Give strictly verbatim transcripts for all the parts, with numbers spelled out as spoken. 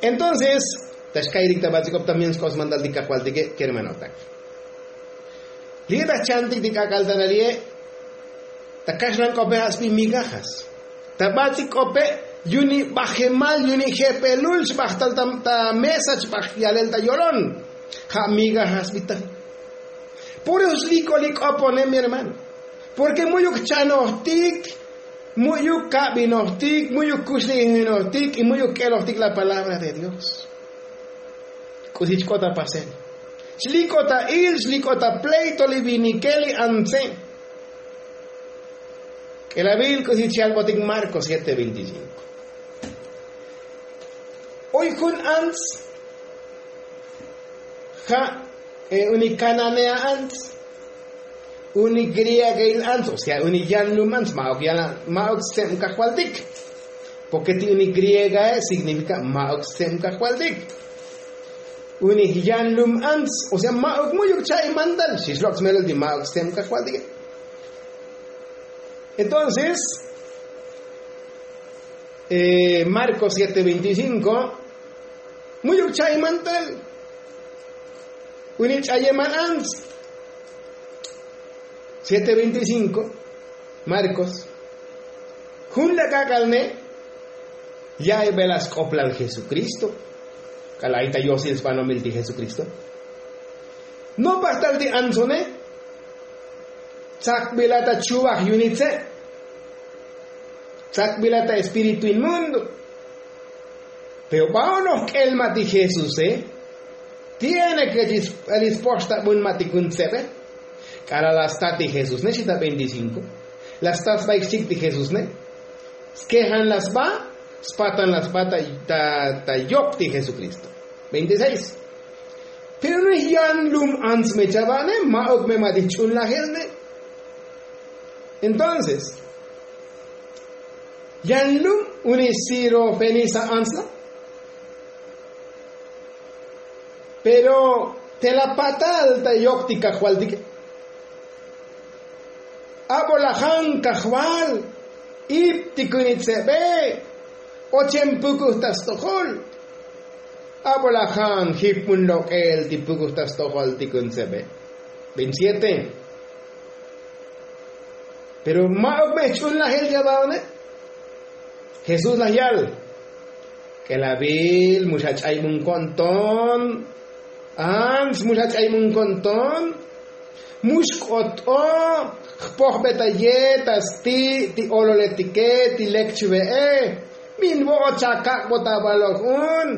Entonces ta xka'iytik ta bats'il k'op también sk'op smantal ti kajvaltike' kermanotak. Li'e ta jchantik ti k'ak'al ta nali'e', ta kaxlan k'ope ja' sbi migajas. Ta bats'il k'ope' yu'uni bajemal yu'uni jepelul xbajtal ta mesa xbaj yalel ta yolon. Ja' migajas sbi ta. Por eso slik'o li k'opone' mi hermano. Porke mu'yuk jchanojtik, mu'yuk kabinojtik, mu'yuk kuxlijinojtik y mu'yuk k'elojtik la palabra de dios. K'usi chk'ot apasel? Chlik'ot a il chlik'ot a pleito li vinike li antse. K'elavil k'usi chi albotik marko siete veinticinko. Oy jun ants ja' uni kananea ants, uni griegail ants o sea uni yanlum ants ma'uk yan ma'uk stseb kajvaltik. Porke ti uni griegae signifika ma'uk stseb kajvaltik. Uni yanlum ants o sea ma'uk mu'yuk cha'i mantal xixlok' smelol ti ma'uk stseb kajvaltike. Entonces marko siete veinticinko, mu'yuk cha'i mantal. Uni ch'ayemal ants siete veinticinko. Markos. Jun la k'ak'al ne' ya'ibe la sk'oplal jesukristo. K'alal ay ta yosil sbanomil ti jesukristo. Nopaj tal ti antsone'. Tsakbila ta chuvaj yu'uni tse'. Tsakbila ta espíritu inmundo. Pero ba'onoj k'el ma' ti jesuse'. Tiene ke chi spoxtabun ma' ti kun tsebe. K'alal la sta ti jesús ne xita veinticinko. La sta sbaik xchik ti jesús ne. Skejan la sba. Spatan la sba ta yop ti jesukristo. Veintiseis. Pero no es yanlum ants me chava'ne ma'uk me ma' ti jch'unlajel ne. Entonces yanlum uni sirofenisa antsla. Pero te la patal ta yok ti kajvaltike. Abo lajan kajval ip ti kunitsebe. Ochem pukuj ta stojol. Abo lajan jip mun lok'el ti pukuj ta stojol ti kunitsebe. Veintisiete. Pero ma'uk me jch'unlajel yavaone'. Jesús laj yal. K'elavil mu xach'aybunkon ton. Ants mu xach'aybunkon ton. Mu xk'ot'o jpojbetayej ta sti' ti ololetike ti lek chve'e. Min vo'ot chakak'bot avaloj un.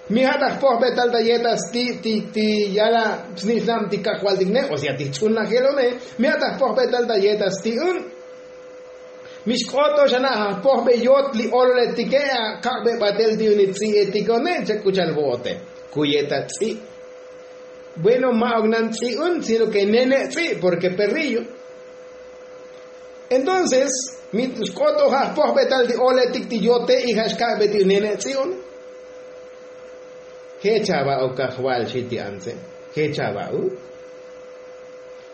Mi ja' ta jpojbetal ta yet ta sti' ti ti yala' snich'nab ti kajvaltik ne o sea ti jch'unlajelone. Mi ja' ta jpojbetal ta yet ta sti' un. Mi xk'oto xana' ja' jpojbe yot li ololetike akak'be batel ti yuni tz'i'etikone. Chak k'u cha'al vo'ote. Kuye ta tz'i'. Bueno ma'uk nan tz'i' un sino ke nene' tz'i' porke perrillo. Entonces mi xk'oto ja' jpojbetal ti oletik ti yote y ja' xkak'be ti nene' tz'i' un. Je' chava'uk kajval xi ti antse. Je' chava'uk.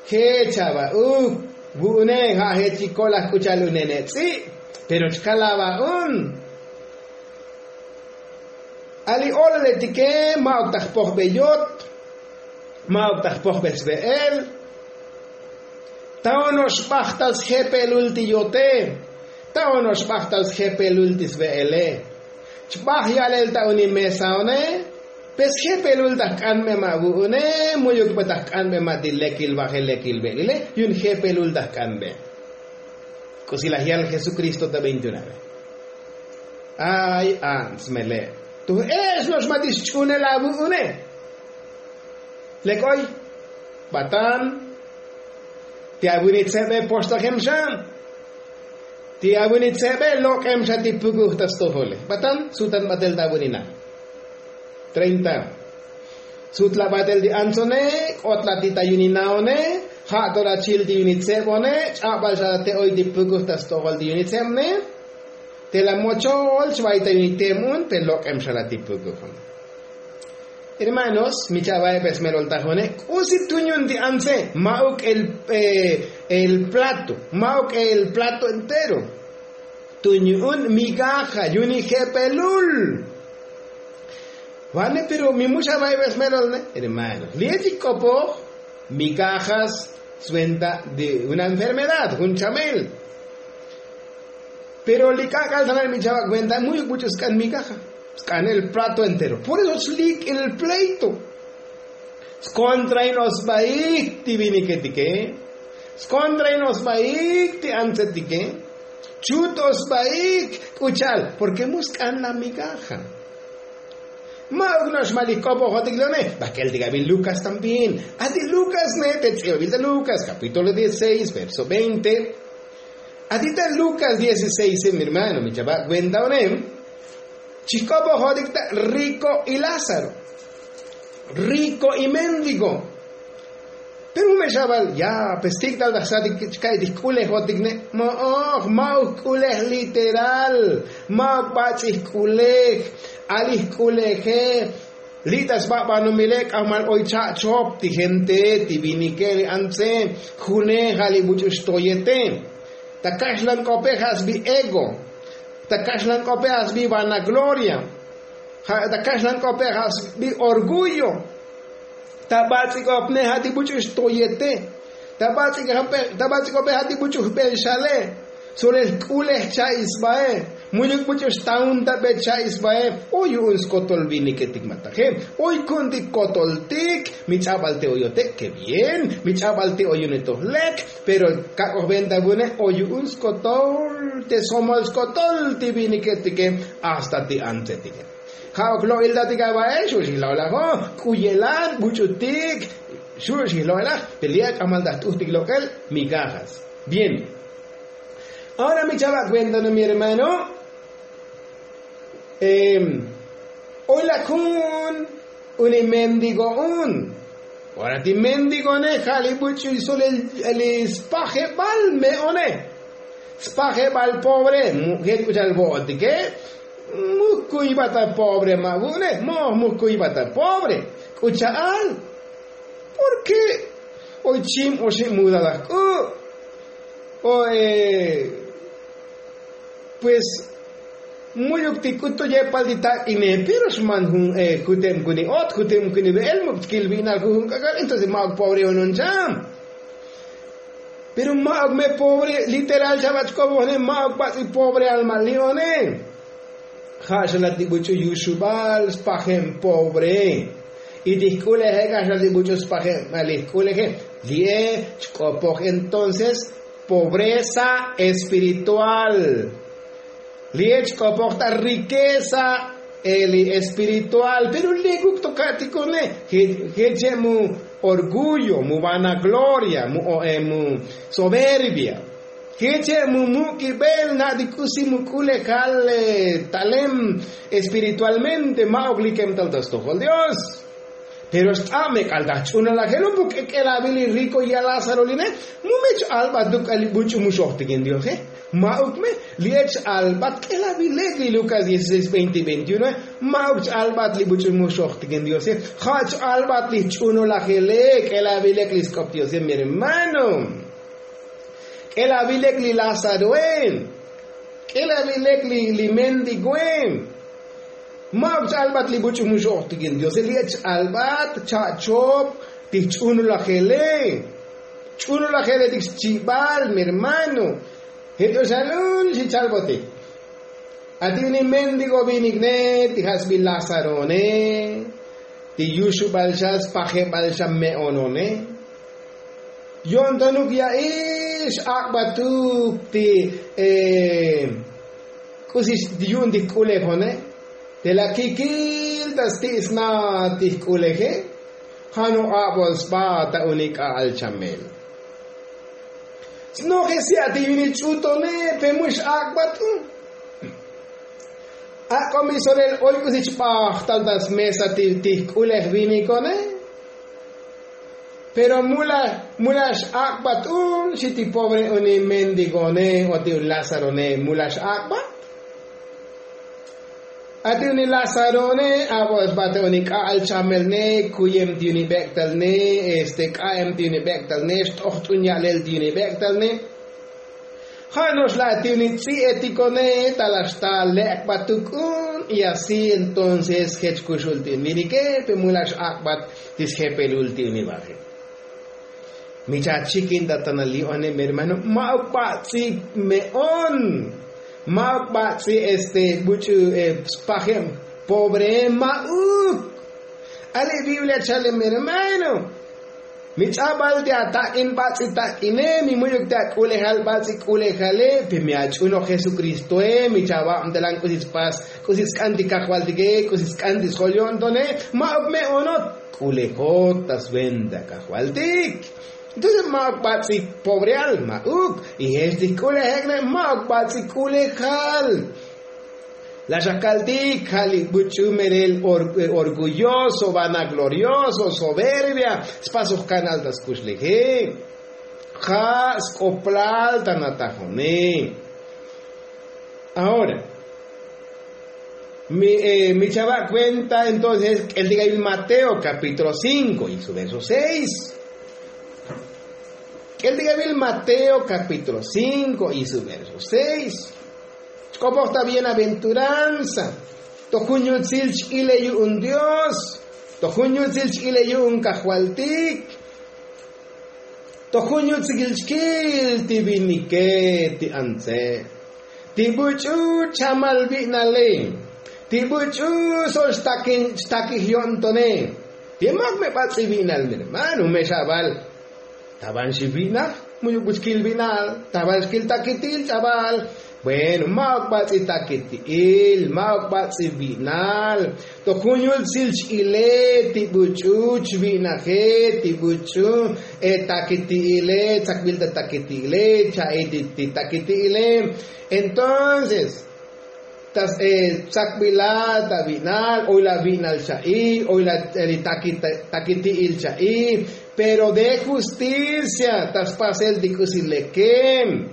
Je' chava'uk. Vu'une ja' je' chikol laj k'u cha'al unene' tz'i'. Pero chkal ava'un. Ali ololetike ma'uk ta jpojbe yot. Ma'uk ta jpojbe sve'el. Ta ono'ox bajtal sjepelul ti yote. Ta ono'ox bajtal sjepelul ti sve'ele. Chbaj ya'lel ta uni mesaone. Pe sjepelul ta jk'anbe ma' vu'une. Mu'yuk pe ta jk'anbe ma' ti lekil vajel lekil ve'lile. Yu'un jepelul ta jk'anbe. K'usi laj yal jesukristo ta veintiunave. Ay ants mele'. Tuj e'ex no'ox ma' ti xch'unel avu'une. Lek oy. Batan. Ti avuni tsebe poxtajem xa. Ti avuni tsebe lok'em xa ti pukuj ta stojole batan sutan batel ta avuni na. Treinta. Sutla batel ti antsone. K'otla ti ta yuni naone. Ja' to la chil ti yuni tsebone. Ch'abal xa la te oy ti pukuj ta stojol ti yuni tsebone. Te la mochol chvay ta yuni tem un te lok'em xa la ti pukuj un. Hermanos mi cha'vae pe smelol tajone. K'usi tunyun ti antse ma'uk el plato ma'uk el plato entero. Tunyu'un migaja yu'uni jepelul. Vane pero mi muxa vayvesmelol ne hermano li echik k'opoj mi kajas swenta de una enfermedad jun chamel. Pero li k'ak'al tanal mi chava' kuenta mu'yuk buch'u sk'an mi kaja sk'an el plato entero por eso slik' el pleito. Skontrain osbaik ti viniketike. Skontrain osbaik ti antsetike. Chut osbaik k'u cha'al porke mu sk'an la mi kaja. Ma'uk no'ox ma' li jk'opojotik leone. Bakel ti gabil lukas también. Ati lukas ne te tz'ibabil ta lukas kapítulo dieciséis verso veinte. Ati ta lukas dieciséis mi hermano mi chava' kuenta onem. Chijk'opojotik ta riko y lázaro. Riko y méndigo. Pero jun me xabal ya pues tik' tal ta jsatik chka'y ti jk'ulejotik ne. Mo'oj ma'uk jk'ulej literal. Ma'uk bats'i jk'ulej. Ali jk'uleje. Li' ta sba' banomile k'ajmal oy cha'chop ti gente ti vinike li antse. June ja' li buch'u xtoyete. Ta kaxlan k'ope ja' sbi ego. Ta kaxlan k'ope ja' sbi vanagloria. Ja' ta kaxlan k'ope ja' sbi orgullo. Ta bats'ik'opne ja' ti buch'u xtoyete. Ta bats'ik'ope ja' ti buch'u jbel xale. Solel jk'ulej cha'i sbae. Mu'yuk buch'u xtaun ta be cha'i sbae. O yu'un skotol viniketik mataje. Oy ku'untik kotoltik. Mi ch'abal te oyote ke bien. Mi ch'abal te oyune to jlek. Pero kak'oj venta vune o yu'un skotol te somol skotol ti viniketike. Hasta ti antsetike. Ja'uk lo'iltatik avae xu' xijlo'elaj o k'u ye'lan buch'utik. Xu' xijlo'elaj pe li' ak'amal ta jt'ujtik lok'el. Mi kajas bien. Ahora mi chava' kuenta no mi hermano. Oy lak jun uni mendigo un. Ora ti mendigone ja' li buch'u solel li spajebal me'one. Spajebal pobre. Jech k'u cha'al vo'otike. Muk kuybat a pobre ma' vu'une mo'oj muk kuybat a pobre. K'u cha'al porke oy chim oxib mudalaj k'u. O pues mu'yuk ti k'utu yepal ti tak'ine pero xman jun jutem kuni ot jutem kuni ve'el muk chkil vi'nal jujun k'ak'al entonces ma'uk pobre onon cham. Pero ma'uk me pobre literal chabach k'obojne ma'uk bats'i pobre alma li'one. Ja' xala ti buch'u yuxubal spajem pobre. Y ti jk'uleje k'a xala ti buch'u spajem li jk'uleje. Li'e chk'opoj entonces pobreza espiritual. Li'e chk'opoj ta riqueza. Eli espiritual pero li' kuk to ka'tikone. Jeche' mu orgullo mu vanagloria mu soberbia. Jeche' mu muk'ibel na' ti k'usi mu k'ulejal talem espiritualmente ma'uk likem tal ta stojol dios. Pero xt'ab me k'al ta jch'unolajel un puk k'elabil li riko ya lázaro line. Mu me ch-albat luk k'al li buch'u mu xojtikin diose. Ma'uk me li ech albat k'elabilek li lukas dieciséis veinte veintiuno. Ma'uk ch-albat li buch'u mu xojtikin diose. Ja' ch-albat li jch'unolajele k'elabilek li sk'op diose mi hermano. K'elabilek li lázaroe. K'elabilek li mendigoe. Ma'uk ch-albat li buch'u mu xojtikin diose li ech albat cha'chop ti jch'unulajele. Ch'unulajele ti xchibal mi hermano. Jech oxalun xi chalbotik. Ati uni mendigo vinik ne ti ja' sbi lázarone. Ti yuxubal xa spajebal xa me'onone. Yo'ntonuk ya'ix ak'batuk ti k'usi yu'un ti jk'ulejone. Te la kikil ta sti' sna ti jk'uleje. Ja' no abol sba ta unik k'a'al chamel. Snoje si' ati yu'un ti ch'utone pe mu xak'bat un. Ak'o mi solel oy k'usi chbajtal ta smesa ti jk'ulej vinikone. Pero mu la xak'bat un xi ti pobre uni mendigone o ti lázarone mu la xak'bat. Ati uni lázarone abo' sba ta uni k'a'al chamelne kuyem ti uni bek'talne este k'a'em ti uni bek'talne xt'ojt'un ya'lel ti uni bek'talne. Ka'no'ox la' ti uni tz'i'etikone ta la' xta lek'bat tuk'un y asi entonces jech kuxul ti uni vinike pe mu la' x'ak'bat ti sjepelul ti uni baje'. Mi chachikin ta tanal li'one mi hermano, ma'uk bats'i me'on, ma'uk bats'i este buch'u spajeb pobre, ma'uk. Ali' biblia chale mi hermano, mi ch'abal ti atak'in bats'i tak'ine, mi mu'yuk ti ak'ulejal bats'i k'ulejale pe mi ach'unoj jesukristoe, mi chavabtelan k'usi tspas, k'usi tsk'an ti kajvaltike, k'usi tsk'an ti sjol yo'ntone. Ma'uk me'onot, k'ulejot ta sventa kajvaltik. Entonces ma'uk bats'i pobreal, ma'uk. Y jech ti jk'ulejek'ne ma'uk bats'i k'ulejal. La' xa kaltik ja' li buch'u melel orgulloso, vanaglorioso, soberbia, spasoj kanal ta skuxleje. Ja' sk'oplal ta natajone. Ahora mi chava' kuenta entonces k'eltik avil mateo kapítulo cinko y su verso seis. K'eltik avil mateo kapítulo cinko y su verso seis. Chk'opoj ta bienaventuranza to jun yutsil ch'ile yu'un dios, to jun yutsil ch'ile yu'un kajvaltik, to jun yutsil chkil ti vinike ti antse, ti buch'u chamal vi'nale, ti buch'u sol xtakij yo'ntone. Ti ma'uk me bats'i vi'nal mi hermano, me xabal. Ta van xi vi'naj, mu'yuk buchkil vi'nal ta van xkil takiti'il ch'abal. Bueno, ma'uk bats'i takiti'il, ma'uk bats'i vi'nal. To jun yutsil ch'ile ti buch'u chvi'naje, ti buch'u takiti'ile, tsakbil ta takiti'ile, cha'i ti takiti'ile. Entonces ta tsakbilal ta vi'nal, oy la vi'nal cha'i, oy la takiti'il cha'i. Pero de justicia ta spasel ti k'usi leke.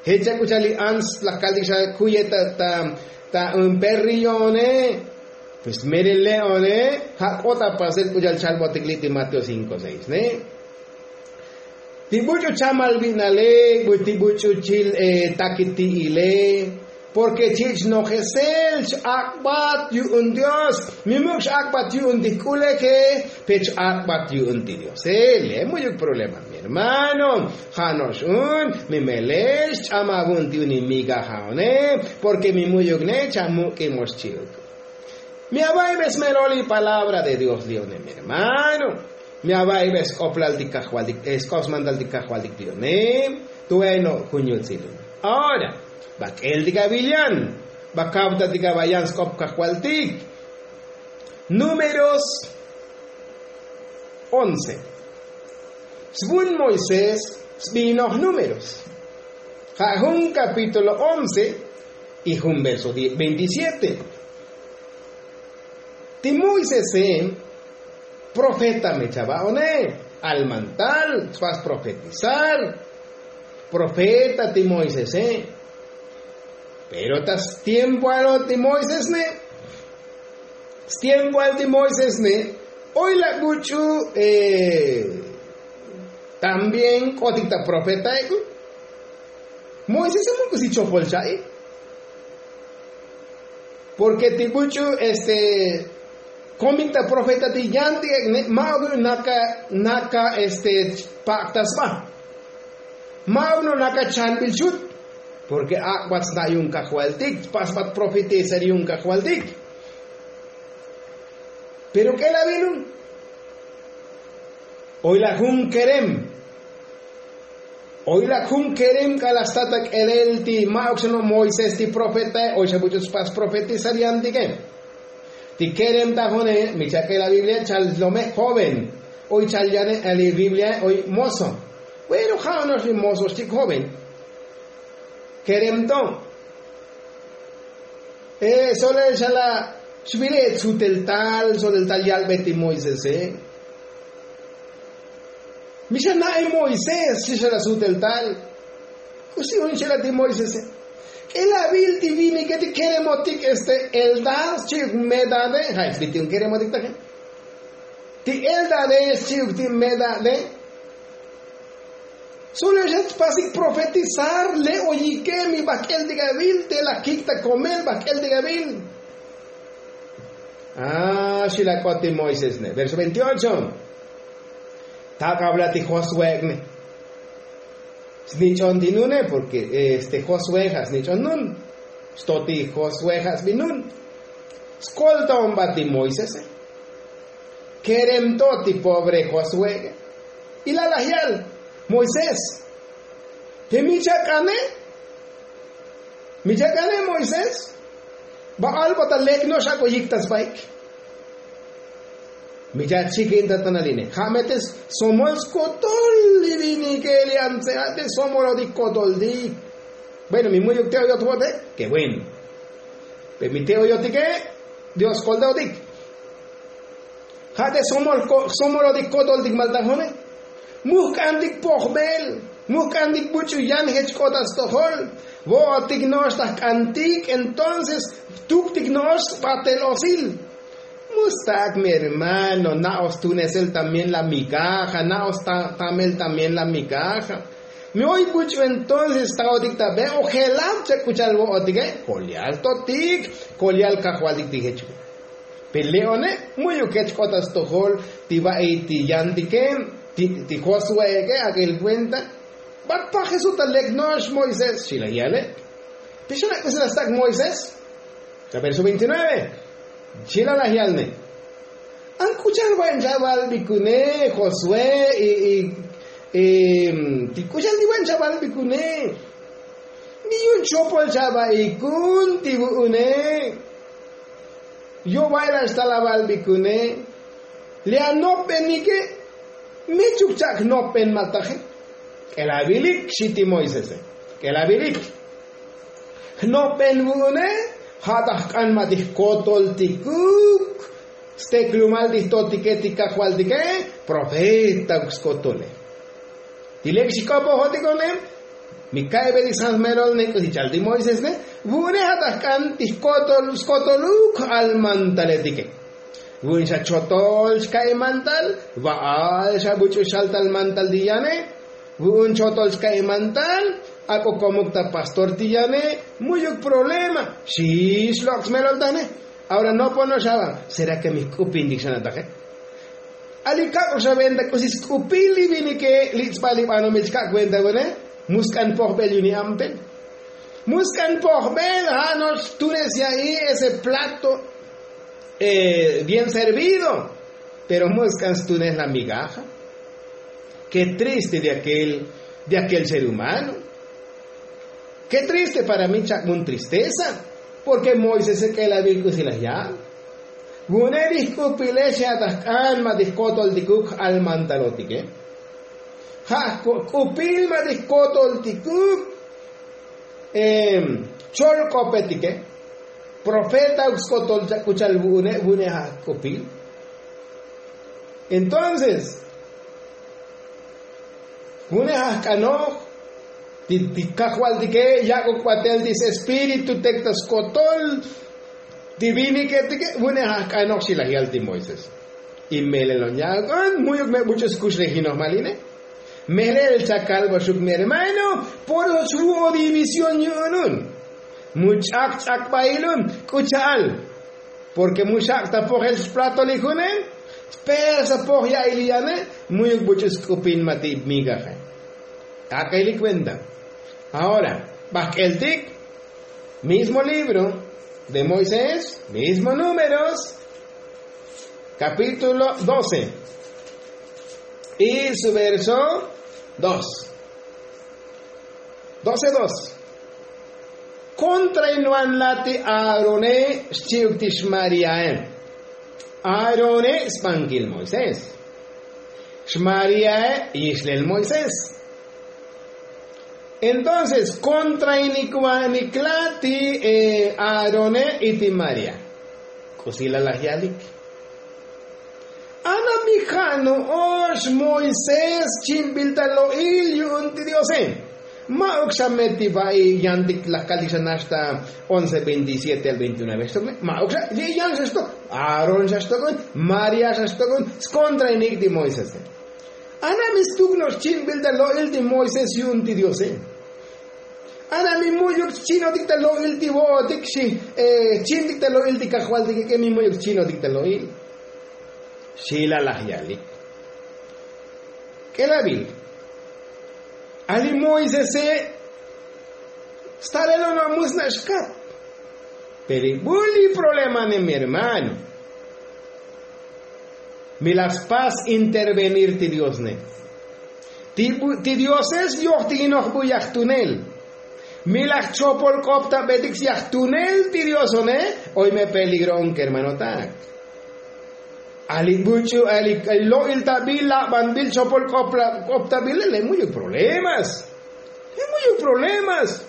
Jech chak k'u cha'al li ants laj kaltik xa kuye ta ta ta perrione. Pues melel le'one ja' k'ot apasel k'u cha'al chalbotik li' ti mateo cinko seis ne. Ti buch'u chamal vi'nale, ti buch'u chil takiti'ile, porke chi' chnojesel ch-ak'bat yu'un dios. Mi muk' x-ak'bat yu'un ti jk'uleje, pe ch-ak'bat yu'un ti diose. Le' mu'yuk problema mi hermano. Ja' no'ox un mi melel xch'amaj vu'un ti uni migajaone, porke mi mu'yuk ne chamuk'imox chi'uk. Mi ava'ibe smelol li palabra de dios li'one mi hermano. Mi ava'ibe sk'oplal ti kajvaltik sk'op smantal ti kajvaltik li'one. Tueno jun yutsilun. Ahora va k'eltik avil yan, va kavtatik ava yan sk'op kajvaltik. Números once. Svun moisés sbinoj números, ja' jun kapítulo once y jun verso veintisiete. Ti moisese profeta me chava'one, almantal spas profetizar. Profeta ti moisese. Pero ta stiempoalo ti moisesne, stiempoal ti moisesne, oy la buch'u también k'otik ta profetaek'u. Moisese muk' k'usi chopol cha'i. Porke ti buch'u este komik ta profeta ti yantik ek'ne, ma'uk naka naka este pak' ta sba. Ma'uk no naka chanbil xut. Porke ak'bat sna' yu'un kajvaltik, spasbat profetizar yu'un kajvaltik. Pero k'el avilun, oy la jun kerem. Oy la jun kerem k'ala' sta ta k'elel ti ma'uk xa no' moisés ti profetae, oy xa buch'u spas profetizar yantike. Ti kerem ta june mi chak'el la biblia chal lome joven. Oy chal yane ali biblia oy mozo. Bueno ja' ono'ox li mozo xchik joven. Kerem to. Solel xa la xvile' tsutel tal solel tal yalbe ti moisese. Mi xa na'e moisés xi xa la sutel tal. K'usi un xela ti moisese? K'el avil ti vinike ti keremotik este eldad xchi'uk medade. Ja' sbi ti un keremotik taje ti eldade xchi'uk ti medade. Sule xa tpasik profetizar le' oyike mi bajk'el ti gavil te la kik' ta komel bajk'el ti gavil. A xi la k'ot ti moisés ne verso veintiocho. Tak' avla ti josué ne snich'on ti nune porke este josué ja' snich'on nun. Xto ti josué ja' sbinun skoltaon ba ti moisese. Kerem to ti pobre josué. Ilal laj yal moisés, te mi chak'ane mi chak'ane moisés. Ba'al bata lek no'ox ak'o yiktas baik. Mi chachikin ta tanaline ja' me te somol skotol li vinike li antse ja' te somolotik kotoltik. Bueno mi mu'yuk te oyot vo'te ke bueno. Pe mi te oyotike dios koltaotik. Ja' te somolotik kotoltik maltajone. Mujk'antik pojbel mujk'antik buch'u yan jech k'ot ta stojol. Vo'otik no'ox ta jk'antik entonces tuktik no'ox sbatel osil. Mu stak' mi hermano na'oj stunesel también la migaja na'oj stamel también la migaja. Mi oy buch'u entonces staotik ta be' ojelab chak k'u cha'al vo'otike kol yal totik kol yal kajvaltik ti jech. Pe le'one mu'yuk jech k'ot ta stojol ti va'i ti yantike ti josue'eke ak'el kuenta. Bat pajesut ta lek no'ox moisés xi laj yale'. Pixan ak'usi la stak' moisés. Verso veintinueve. Xi laj laj yalne an k'u cha'al va'i chavalbikune josué. Ti k'u cha'al ti va'i chavalbikune. Mi yu'un chopol chavalbikun ti vu'une. Yo' va'il axtal avalbikune. Li anopbenike. Mi chuk chak' jnopben maltaje. K'elavilik xi ti moisese. K'elavilik. Jnopben vu'une ja' ta jk'an ma' ti jkotoltikuk. Steklumal ti jtotike ti kajvaltike. Profetauk skotole. Ti lek xik'opojotik onem. Mi ka'ibetik san jmerol ne k'usi chal ti moisés ne. Vu'une ja' ta jk'an ti jkotol skotoluk j'al mantaletike. Vu'un xa chotol chka'i mantal. Va'al xa buch'u xaltal mantal ti yane. Vu'un chotol chka'i mantal. Ak'o komuk ta pastor ti yane. Mu'yuk problema. Xi xlok' smelol tane. Ahora nopono'ox ava. Sera ke mi jk'upintik xa nataje? Ali kak'ox aventa k'usi sk'upil li vinike li tz'bal li banomil chka' kuenta vune. Mu sk'an pojbel yu'un li ampel. Mu sk'an pojbel ja' no'ox tunes ya'i ese plato bien servido. Pero mu sk'an stunes la migaja. Ke triste de akel ser humano. Ke triste para mi chak' mun tristeza. Porke moisese k'elavil k'usi laj yal. Vu'une ti jk'upile xi ja' ta jk'an ma' ti jkotoltikuk j'al mantalotike. Ja' jk'upil ma' ti jkotoltikuk. Chol k'opetike. Profetauk skotol chak' k'u cha'al vu'une vu'une ja' jk'upil. Entonces vu'une ja' jk'anoj. Ti kajvaltike yak'uk batel ti sespíritu tek ta skotol ti viniketike. Vu'une ja' jk'anoj xi laj yal ti moisés. Y melel on yak'uk on mu'yuk me buch'u skux le jinoj maline. Melel chakalboxuk mi hermano. Por eso chvu'o división yu'un un. Mu ch'ak ch'ak bail un. K'u cha'al porke mu xak' ta pojel splatolik june. Spersa poj ya'il yane. Mu'yuk buch'u sk'upin ma' ti migaje. Ak'eli kuenta. Ahora bajk'eltik mismo libro de moisés, mismo números, capítulo doce y su verso dos. Doce dos. Kontra inwan lati aarone xchi'uk ti xmariae. Aarone sbankil moisés. Xmariae yixlel moisés. Entonces kontra inik wanik lati aarone y ti maria. K'usi la laj yalik. Ana mi ja' no'ox moisés chimbil ta lo'il yu'un ti diose. Ma'uk xa me ti va'i yantik laj kaltik xa nax ta once veintisiete al veintinueve xtokne. Ma'uk xa li' yan xa xtok. Aarón xa xtokon. María xa xtokon. Skontra inik ti moisés. Ana mi stuk no'ox chinbil ta lo'il ti moisés yu'un ti diose. Ana mi mu'yuk chinotik ta lo'il ti vo'otik xi chintik ta lo'il ti kajvaltik ek'e mi mu'yuk chinotik ta lo'il. Xi lalaj yalik k'elabil. Ali moisese stalelon a musna' xkap. Pero i buli problema ne mi hermano, mi la spas intervenir ti dios ne. Ti dioses yojtikinoj bu yajtunel. Mi la jchopol k'op ta betik syajtunel ti dios one. Oy me peligro on kermanotak. Ali buch'u ali lo'iltabil labanbil chopol k'op ta bile le mu'yuk problemas. Le mu'yuk problemas.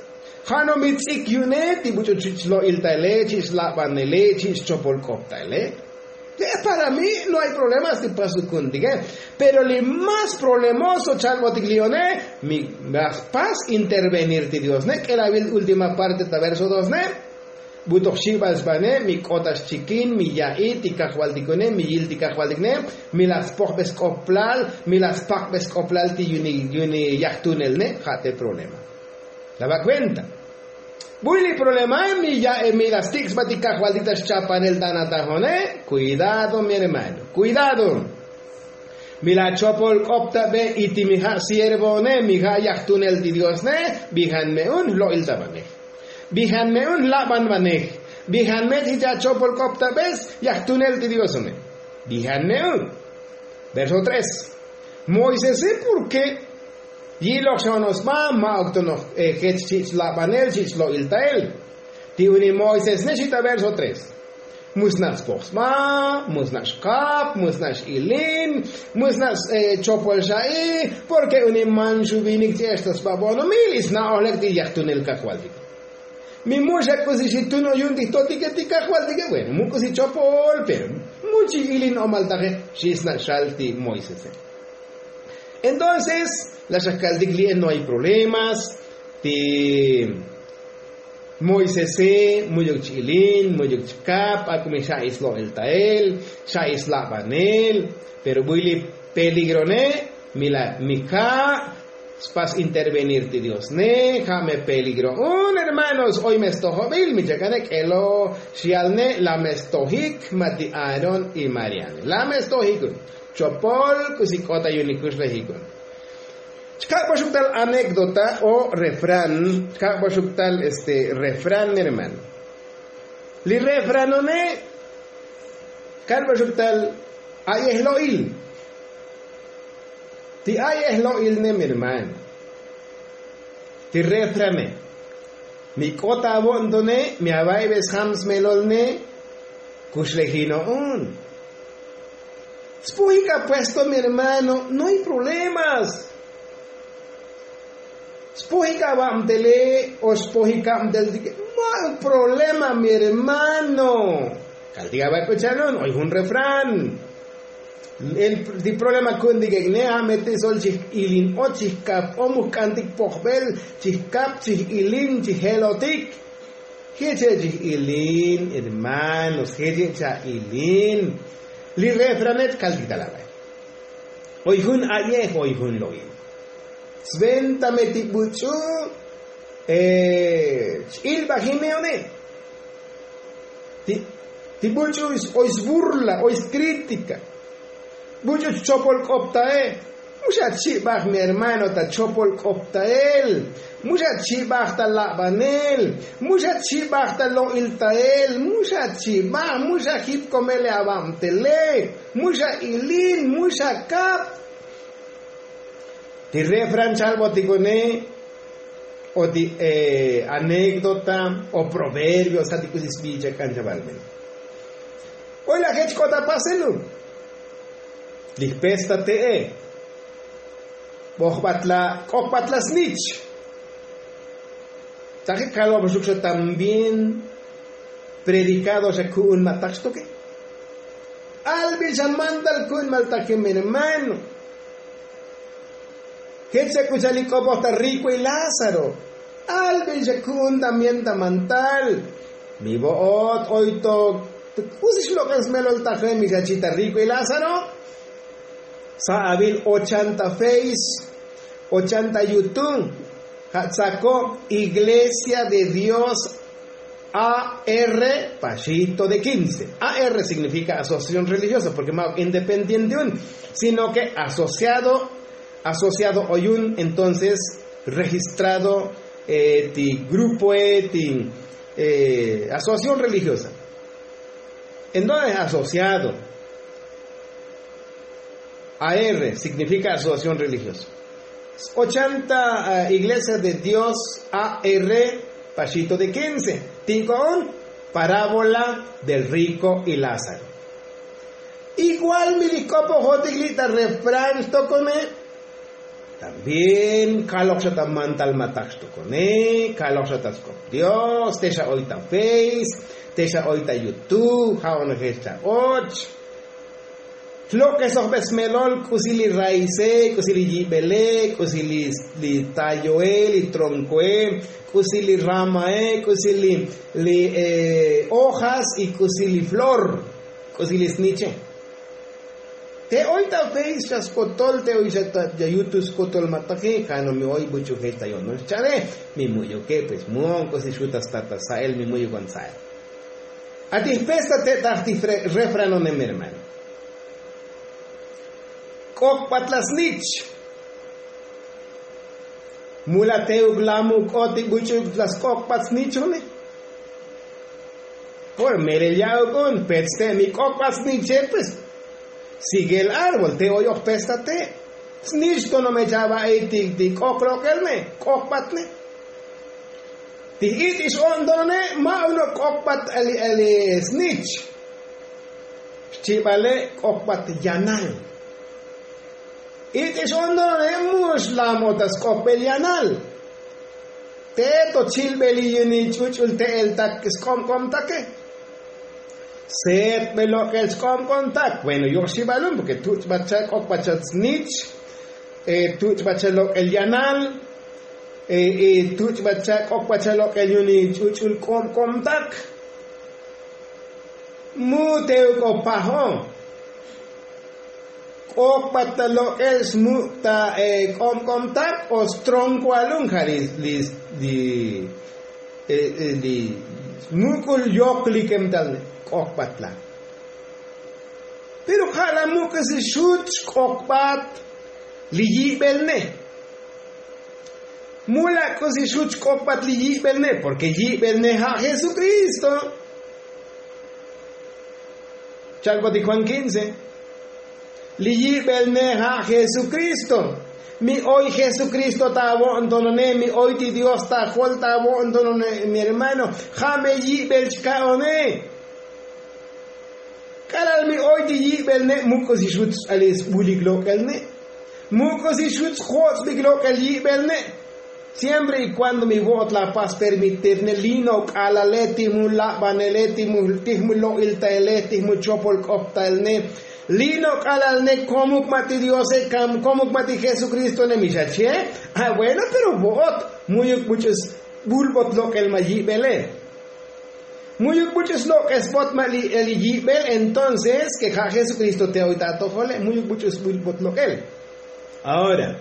Ja' no mi tz'ik yu'une ti buch'u chich' lo'iltaile chich' labanele chich' chopol k'op taile. Le para mi no hay problemas ti pasuk ku'untike. Pero li más problemoso chalbotik li one, mi la spas intervenir ti dios ne k'elabil última parte ta verso dos ne. Bu toj xibal sbane mi k'ot ta xchikin mi ya'i ti kajvaltik one mi yil ti kajvaltik ne. Mi la spojbe sk'oplal mi la spakbe sk'oplal ti yuni yajtunel ne ja' te problema. La ba' kuenta. Buy li problemae mi ya'i mi la stik' sba ti kajvaltik ta xchapanel ta natajone. Kuidado mi hermano kuidado. Mi la chopol k'op ta be y ti mi ja' siervoone mi ja' yajtunel ti dios ne. Bijan me un jlo'il ta banej. Bijan me un jlaban banej. Bijan me ti chachopol k'op ta bes yajtunel ti dios one. Bijan me un. Verso tres. Moisese purke yi'loj xa ono'ox sba ma'uk tonoj jech chich' labanel chich' lo'iltael. Ti uni moisés ne xi ta verso tres. Musna' spoj sba, musna' xkap musna' x'ilin, musna' chopol xa'i. Porke uni manxu vinik ch'e'ex ta sba bo'onomil y sna'oj lek ti yajtunel kajvaltik. Mi mu'xa k'usi xi tuno' yu'un ti jtotike ti kajvaltike bueno mu' k'usi chopol pero mu' chi' ilin omal taje. Xi sna' xal ti moisese. Entonces la xa kaltik li'e no hay problemas. Ti moisese mu'yuk ch'ilin mu'yuk chkap ak'umi xa'i slo'eltael, xa'i slabanel. Pero buy li peligrone mi la mi ka' spas intervenir ti dios ne ja' me peligro un hermanos oy me stojobil mi chakane k'elo. Xial ne la me stojik ma ti aarón y mariane la me stojik un. Chopol k'usi k'ot ta yu'un ikuxlejik un. Chkak'boxuk tal anékdota o refrán. Chkak'boxuk tal este refrán mi hermano. Li refranone kalboxuk tal a'yej lo'il. Ti a'yej lo'il ne mi hermano. Ti refrane mi k'ot avo'ntone mi ava'ibe sjam smelolne. Kuxlejino'un. Spojik apuesto mi hermano no hay problemas. Spojik avabtele o spojik abteltike. Ma'uk problema mi hermano. Kaltik avak'uchalun oy jun refrán. Ti problema ku'untik ek' ne ja' me ti sol chij ilin och chij kap o muk k'antik pojbel chij kap chij ilin chij jelotik. Jeche' chij ilin hermanos jeche' cha' ilin. Li refranet kaltik tal avay. Oy jun a'yej oy jun lo'il. Sventa me ti buch'u ch'ilbajineone. Ti buch'u oy sburla oy skrítika. Buch'u chopol k'optae. Mu xa chibaj mi hermano ta chopol k'optael. Mu xa chibaj ta labanel. Mu xa chibaj ta lo'iltael mu xa chibaj mu xa jipkomele avabtele. Mu xa ilin mu xa kap. Ti refran chalbotikone o ti anékdota o proverbio sa ti k'usi sbicha k'an chavalmel. Oy la jech k'ot apaselu. Li jpesta te'e bojbatla k'okbatla snich. Taje kalboxuk xa también predikado xa ku'un ma' tak xtoke. Albil xa mantal ku'un ma' tak mi hermano. Jech xa k'u cha'al li k'opoj ta rikue lázaro. Albil xa ku'un también ta mantal. Mi vo'ot oy to k'usi xlok'an smelol taje mi xa chi' ta rikue lázaro. Sa' avil ochanta feis, ochanta yutu. Ja' tsako iglesia de dios. A r pashito de quince. A r signifika asociación religiosa porke ma' independiente un, sino ke asociado asociado oyun entonces registrado ti grupoe ti asociación religiosa. Entonces asociado a r signifika asociación religiosa. Ochanta iglesia de dios a r pashito de quince. Tinko'on parábola del riko y lázaro. Igual mi li kopojotik li' ta refrán xtokone. También kalok xa ta mantalmatak xtokone kalok xa ta skop dios te xa oy ta feis, te xa oy ta yutu ja'on jech ta och. Jlok'esojbe smelol k'usi li raise, k'usi li yibele, k'usi li tayoe, li tronkoe, k'usi li ramae, k'usi li ojas y k'usi li flor, k'usi li sniche. Te oy ta feis xa skotol te oy xa ta yut skotol mataki kano mi oy buch'u jech ta yo'nol xcha'ne. Mi mu'yuke pues mu'on k'usi xu' ta stat ta sa'el mi mu'yuk on sa'el. Ati jpesta te' taj ti refranonem hermano. K'okbat la snich. Mula teuk la muk' oti buch'u la sk'okbat snichone. Por melel ya'uk un pets te' mi k'okbat sniche pues. Sigel árbol te' oy oj pesta te' snich tono me cha'ba'i ti k'ok lok'el me k'okbat ne. Ti j'it'ix o'ntonone ma' uno' k'okbat ali ali snich. Xchibale k'okbat yanal. It'ix o'ntonone mu' xlamot ta sk'okbel yanal. Te'e to chilbeli yuni ch'uch'ul te'el tak sk'omk'omtake. Setbe lok'el sk'omk'omtak bueno yo'xi balun porke tuch'bat cha k'okbat cha snich. Tuch'bat cha lok'el yanal. Tuch'bat cha k'okbat cha lok'el yuni ch'uch'ul k'omk'omtak. Mu te uk'o pajo. K'okbat ta lok'el smuk' ta k'omk'omtak o stronkoalun ja' li li li smuk'ul yoklikem tal k'okbat la. Pero ja' la muk' k'usi xut xk'okbat li yi'bel ne. Mula' k'usi xut xk'okbat li yi'bel ne porke yi'bel ne ja' jesukristo. Cha'kotik juan kince. Li yi'bel ne ja' jesukristo. Mi oy jesukristo ta avo'ntonone mi oy ti dios ta jol ta avo'ntonone. Mi hermano ja' me yi'bel chka'one. K'alal mi oy ti yi'bel ne' muk' k'usi xut xch'alil sbulik lok'el ne'. Muk' k'usi xut sjots'bik lok'el yi'bel ne'. Siempre y kuando mi vo'ot la pas permitir ne' lino k'alale ti jmu labanele ti jmu lo'iltaele ti jmu chopol k'optael ne'. Lino k'alal ne' komuk ma' ti diose komuk ma' ti jesukristo ne' mi xache. A bueno pero vo'ot mu'yuk buch'u sbulbot lok'el ma' yi'bele. Mu'yuk buch'u slok'esbot ma' li yi'bel entonces ke ja' jesukristo te oy ta atojole mu'yuk buch'u sbulbot lok'el. Ahora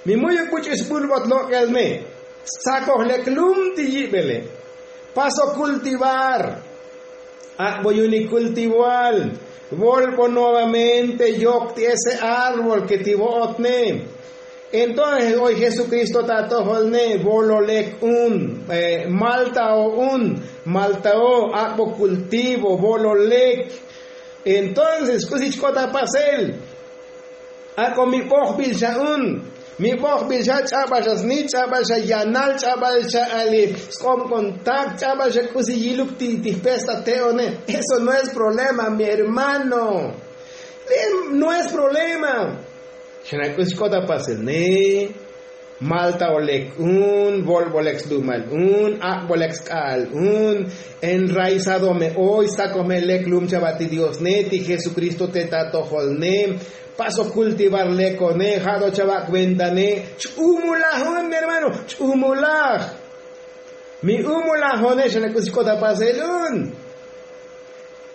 mi mu'yuk buch'u sbulbot lok'el me stsakoj lek lum ti yi'bele. Paso kultivar. Ak'bo yunik kultivar. Volbo nuevamente yok ti ese árbol ke ti vo'ot ne. Entonces oy jesukristo ta atojol ne volo lek un, maltao un, maltao ak'bo kultivo volo lek. Entonces k'usi chk'ot ta pasel. Ak'o mi bojbil xa un. Mi bojbil xa ch'abal xa snich ch'abal xa yanal ch'abal xa ali sk'omk'ontak ch'abal xa k'usi yiluk ti jpesta te'one. Eso no es problema mi hermano. No es problema. Xana' k'usi k'ot ta pasel ne. Maltao lek un volbo lek slumal un ak'bo lek sk'a'al un. Enraizado me oy stakoj me lek lum chava ti dios ne ti jesukristo te ta atojol ne. Paso kultivar lekone ja' to chava' kuenta ne. Ch'umulaj un mi hermano. Ch'umulaj. Mi umulajone xana' k'usi k'ot ta pasel un.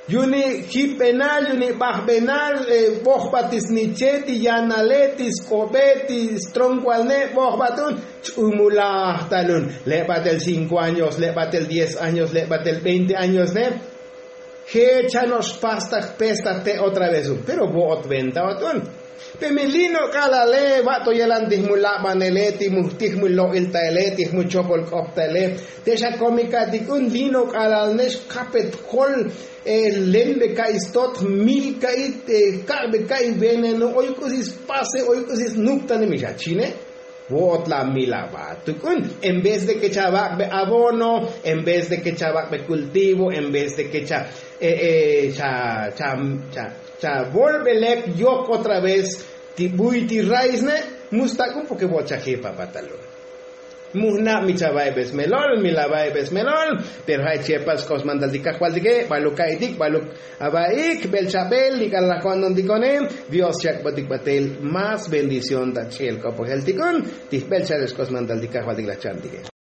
Yu'uni' jipbenal yu'uni' bajbenal, bojbat ti sniche ti yanale ti sk'obe ti stronkualne bojbat un. Ch'umulaj talun le'batel cinko años le'batel diez años le'batel veinte años ne. Je' chano' xpastaj pestaj te' otra vez un pero vo'ot venta ot un. Pe mi lino' k'alale va'to yelan ti jmu labanele ti jmu lo'il taele ti jmu chopol k'op taele. Te' xakomika'tik un lino' k'alal ne xkapet jol lenbe ka'i stot jmil ka'i kak'be ka'i veneno oy k'usi spase oy k'usi snuptane mi xachine. Vo'ot la mil aba tuk'un en vez de ke chavak'be abono, en vez de ke chavak'be kultivo en vez de ke cha cha cha volbe lek yok otra vez ti buy ti raisne. Mustak'un porke vo'ot chajip aba talun. Mujnab mi chava'ibe smelol mi lava'ibe smelol. Pero ja' chi'epal sk'op smantal ti kajvaltike baluk ka'itik baluk. Ava'ik jbel chabel li k'alal laj ko'antontikonem. Dios chak'botik batel más bendición ta ch'i'el k'opojel tik'un ti jbel chabel sk'op smantal ti kajvaltik laj chantike.